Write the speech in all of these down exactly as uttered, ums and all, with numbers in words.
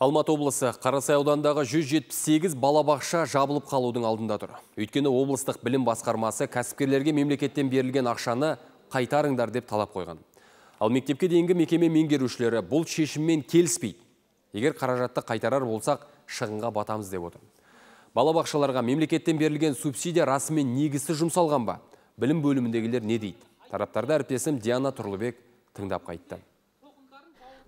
Алматы облысы Қарасай ауданындағы жүз жетпіс сегіз балабақша жабылып қалудың алдында тұр. Өйткені облыстық білім басқармасы кәсіпкерлерге мемлекеттен берілген ақшаны қайтарыңдар деп талап қойған. Ал мектепке дейінгі мекеме меңгерушілері бұл шешіммен келіспейді. Егер қаражатты қайтарар болсақ, шығынға батамыз деп отыр. Балабақшаларға мемлекеттен берілген субсидия расымен негізсіз жұмсалған ба? Білім бөліміндегілер не дейді? Тараптарды әріптесім Диана Тұрлыбек тыңдап қайтты.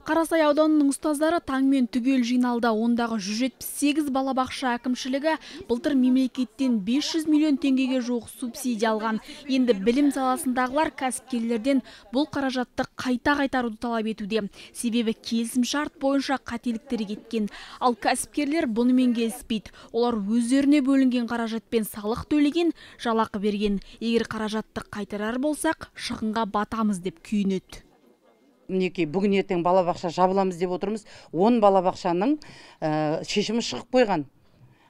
Қарасай ауданының ұстаздары таңмен түгел жиналды. Ондағы жүз жетпіс сегіз балабақша әкімшілігі былтыр мемлекеттен бес жүз миллион теңгеге жуық субсидия алған. Енді білім саласындағылар кәсіпкерлерден бұл қаражатты қайта қайтаруды талап етуде. Себебі келісім шарт бойынша қателіктер кеткен. Ал кәсіпкерлер бұнымен келіспейді. Олар өздеріне бөлінген қаражатпен салық төлеген, жалақы берген. Егер қаражатты қайтарар болсақ, шығынға батамыз деп күйінеді. Мінекей бүгін ертең балабақша жабыламыз деп отырмыз. он балабақшаның шешімі шығып қойған.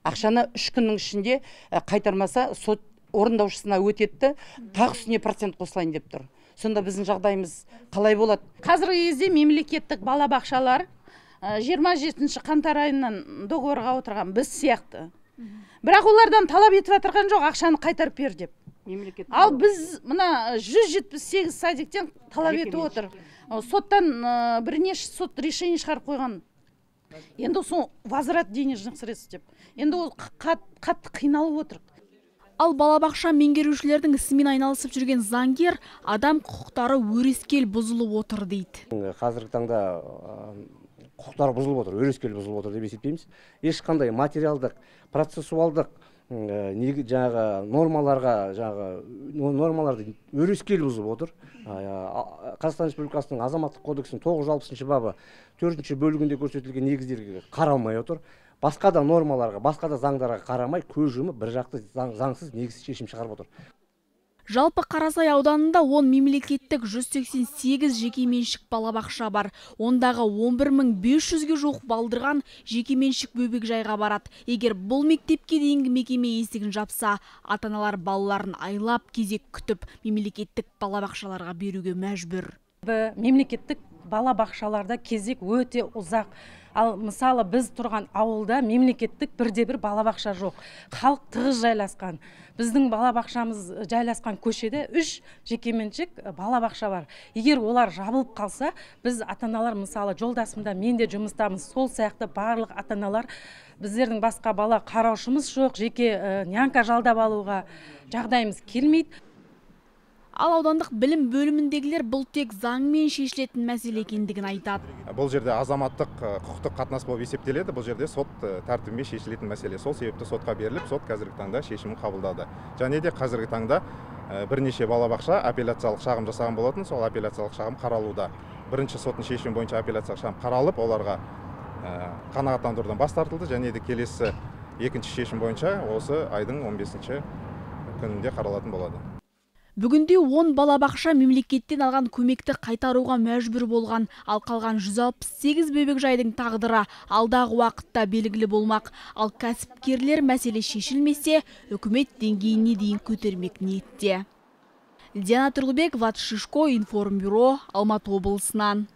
Ақшаны үш күннің ішінде қайтармаса сот орындаушысына өтетті, тағы үстіне процент қосылайын деп тұр. Сонда біздің жағдайымыз қалай болады? Қазіргі кезде мемлекеттік балабақшалар жиырма жетінші қаңтар айынан договорға отырған біз сияқты. Бірақ олардан талап етіп отырған жоқ, ақшаны қайтарып бер деп. Ал біз мына жүз жетпіс сегіз садиктен талап етіп отыр. Соттан бірнеше сот решение шығарып қойған. Енді сол возврат денежных средств деп. Енді ол қатты қиналып отыр. Ал балабақша меңгерушілердің ісімен айналысып жүрген заңгер адам құқықтары өрескел бұзылып отыр дейді. Қазіргі таңда құқықтар бұзылып отыр, өрескел бұзылып отыр деп есептейміз. Ешқандай материалдық, процессуалдық жаңағы нормаларға, жаңағы нормаларды өрескел бұзып отыр. Қазақстан Республикасының азаматтық кодексінің тоғыз жүз алпысыншы бабы төртінші бөлігінде көрсетілген негіздерге қаралмай отыр. Басқа да нормаларға, басқа да заңдарға қарамай көз жұмып бір жақты заңсыз негізсіз шешім шығарып отыр. Жалпы Қарасай ауданында он мемлекеттік жүз сексен сегіз жекеменшік балабақша бар. Ондағы он бір мың бес жүзге жуық балдырған жекеменшік бөбекжайға барады. Егер бұл мектепке дейінгі мекеме есігін жапса, ата-аналар балаларын айлап кезек күтіп, мемлекеттік балабақшаларға беруге мәжбүр. Мемлекеттік балабақшаларда кезек өте ұзақ. Ал мысалы біз тұрған ауылда мемлекеттік бірде-бір балабақша жоқ. Халық тығыз жайласқан. Біздің балабақшамыз жайласқан көшеде үш жекеменшік балабақша бар. Егер олар жабылып қалса, біз ата-аналар мысалы жолдасымда мен де жұмыстамыз. Сол сияқты барлық ата-аналар біздердің басқа бала қараушымыз жоқ, жеке нянка жалдап алуға жағдайымыз келмейді. Ал аудандық білім бөліміндегілер бұл тек заңмен шешілетін мәселе екендігін айтады. Бұл жерде азаматтық құқықтық қатынас болып есептеледі. Бұл жерде сот тәртібімен шешілетін мәселе. Сол себепті сотқа беріліп, сот қазіргі таңда шешімін қабылдады. Және де қазіргі таңда бірнеше балабақша апелляциялық шағым жасаған болатын, сол апелляциялық шағым қаралуда. Бірінші соттың шешімі бойынша апелляциялық шағым қаралып, оларға қанағаттандырудан бас тартылды. Және де келесі екінші шешім бойынша осы айдың он бесінші күнінде қаралатын болады. Бүгінде он балабақша мемлекеттен алған көмекті қайтаруға мәжбүр болған, ал қалған жүз алпыс сегіз бөбекжайдың тағдыры алдағы уақытта белгілі болмақ. Ал кәсіпкерлер мәселе шешілмесе, үкімет деңгейіне дейін көтермек ниетте. Диана Тұрлыбек, Ват Шишко, Информбюро, Алматы облысынан.